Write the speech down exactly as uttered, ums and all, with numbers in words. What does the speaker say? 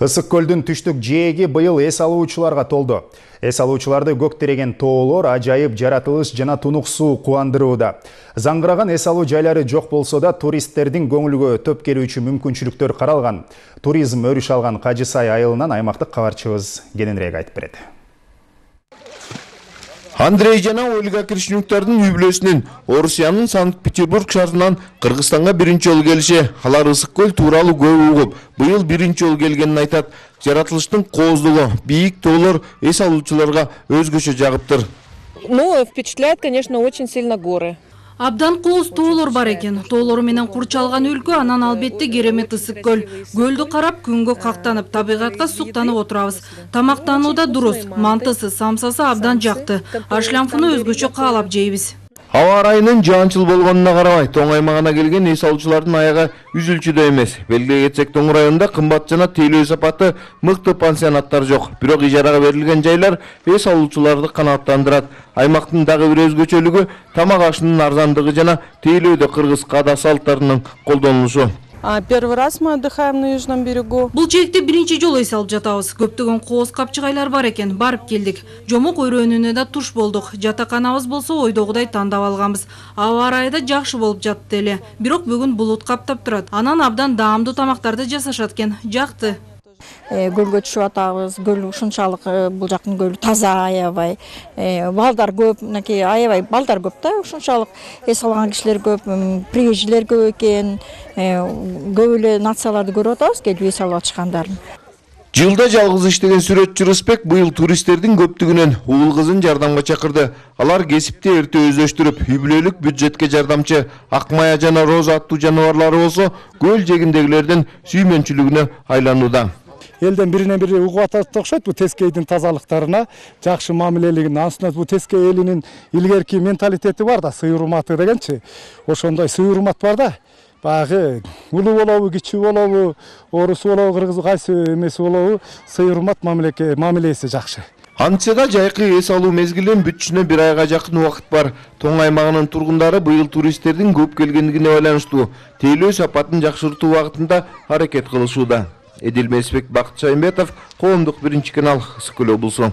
Ысык көлдүн түштүк жээги быйыл эс алуучуларга толду. Эс алуучуларды көк тереген тоолор, ажайып жаратылыш жана тунук суу кубандырууда. Заңгыраган эс алуу жайлары жок болсо да туристтердин көңүлгө төп келүүчү мүмкүнчүлүктөр каралган. Туризм өрүш алган Кажы Сай айылынан аймактык кабарчыбыз кененирээк айтып берет. Андрей жана Ольга Кришнюктардын үй бүлөсүнүн Орусиянын Санкт-Петербург шаарынан Кыргызстанга биринчи жолу келиши. Алар ысык көл тууралуу көп угуп, быйыл биринчи жолу келгенин айтат. Жаратылыштын кооздугу, бийик тоолор эс алуучуларга өзгөчө жагыптыр. Ну, впечатляет, конечно, очень сильно горы. Абдан кооз тоолор бар экен. Тоолор менен курчалган өлкө, анан албетте керемет ысык көл. Көлдү карап, күнгө кактанып, табигатка суктанып отурабыз. Тамактанууда дурус, мантысы, самсасы абдан жакты. Ашлямфуну өзгөчө каалап жейбиз. Аба ырайынын жаанчыл болгонуна карабай, тоң аймагына келген эс алуучулардын аягы үзүлчүдөй эмес. Белгилей кетсек, тоң районунда кымбат жана тейлөө сапаты мыкты пансионаттар жок. Бирок ижарага берилген жайлар эс алуучуларды канааттандырат. Аймактын дагы бир өзгөчөлүгү тамак ашынын арзандыгы жана тейлөөдө кыргыз каада салттарынын колдонулушу. Первый раз мы отдыхаем на южном берегу. Бул жээкте биринчи жолу эс алып жатабыз. Көптөгөн кооз капчыгайлар бар экен. Барып келдик. Жомок өрөөнүнө да туш болдук. Жатаканабыз болсо ойдогудай тандап алганбыз. Аба ырайы да жакшы болуп жатты эле. Бирок бүгүн булут каптап турат. Анан абдан даамдуу тамактарды жасашат экен. Жакты. Көлгө түшүп атабыз. Көл ушунчалык бул жактын көлү таза, аябай. Балдар көп, мынакей аябай балдар көп да, ушунчалык эс алган кишилер көп, приезжийлер көп экен. Көп эле нацияларды көрүп атабыз, келип эс алып атышкандарын. Жылда жалгыз иштеген сүрөтчү Рысбек быйыл туристтердин көптүгүнөн уул кызын жардамга чакырды. Алар кесипти эрте өздөштүрүп, үй бүлөлүк бюджетке жардамчы Акмая жана Роза аттуу жаныбарлары болсо көл жээгиндегилердин сүймөнчүлүгүнө айланууда. Элден биринен бири угуп атат окшойт бул Тескейдин тазалыктарына, жакшы мамилелигине. Анысына бул Тескей элинин илгерки менталитети бар да, сый урматы дегенчи. Ошондой сый урмат бар да. Багы улуу болобу, кичүү болобу, орус болобу, кыргыз кайсы эмеси болобу, сый урмат мамилеке мамилеси жакшы. Антияда жайкы эс алуу мезгилинин бүтүшүнө бир айга жакын убакыт бар. Тоң аймагынын тургундары быйыл туристтердин көп келгендигине байланыштуу тейлөө сапатын жакшыртуу убагытында аракет кылышууда. Эдил Месбек, Бакыт Шаймбетов, Коомдук биринчи канал, Ысык көл облусу.